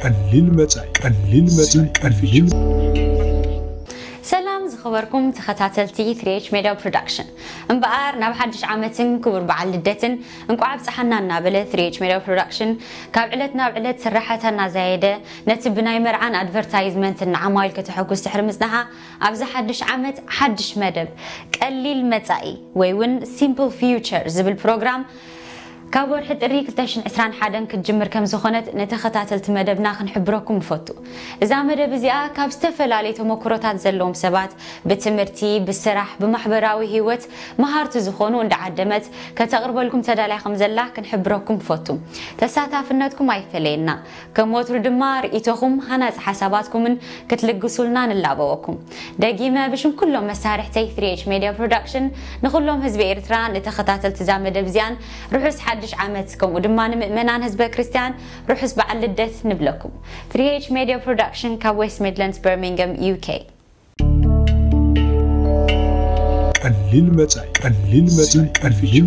ቀሊል መጻኢ ቀሊል መጻኢ ቀሊል ሰላም ዝኸበርኩም ተኸታተልቲ ትሪ ኤች ሜድያ ፕሮዳክሽን፣ እምበኣር ናብ ሓድሽ ዓመትን ክቡር በዓል ልደትን እንቋዕ ኣብፀሓና እናበለ፣ ትሪ ኤች ሜድያ ፕሮዳክሽን ካብ ዕለት ናብ ዕለት ስራሕታ እናዛየደ፣ ነቲ ብናይ መርዓን ኣድቨርታይዝመንትን ንዓማዊል ከተሐጉስ ድሕሪ ምጽናሓ፣ ኣብዚ ሓድሽ ዓመት ሓድሽ መደብ፣ ቀሊል መጻኢ ወይ እውን ሲምፕል ፊውቸር ዝብል ፕሮግራም ካብ ወርሒ ጥሪ ክልተ ሽሕን ዕስራን ሓደን ክትጅምር ከም ዝኾነት ንተኸታተልቲ መደብና ክንሕብረኩም ንፈቱ። እዛ መደብ እዚኣ ካብ ዝተፈላለዩ ተመክሮታት ዘለዎም ሰባት ብትምህርቲ፣ ብስራሕ፣ ብማሕበራዊ ህይወት መሃርቲ ዝኾኑ እንዳዓደመት ከተቕርበልኩም ተዳልያ ከም ዘላ ክንሕብረኩም ንፈቱ። ተሳታፍነትኩም ኣይፈለየና። ከም ወትሩ ድማ ርእይቶኹም፣ ሃናጺ ሓሳባትኩምን ክትልግሱልና ንላበወኩም። ደጊመ ብሽም ኩሎም መሳርሕተይ ትሪ ኤች ሜድያ ፕሮዳክሽን ንኹሎም ህዝቢ ኤርትራ፣ ንተኸታተልቲ እዛ መደብ እዚኣን ርሑስ ሓድሽ ዓመት፣ ከምኡ ድማ ንምእመናን ህዝበ ክርስትያን ርሑስ በዓል ልደት ንብለኩም። ትሪ ኤች ሜድያ ፕሮዳክሽን ካብ ዌስት ሚድላንድስ በርሚንግሃም ዩ ኬ። ቀሊል መጻኢ ቀሊል መጻኢ ቀሊል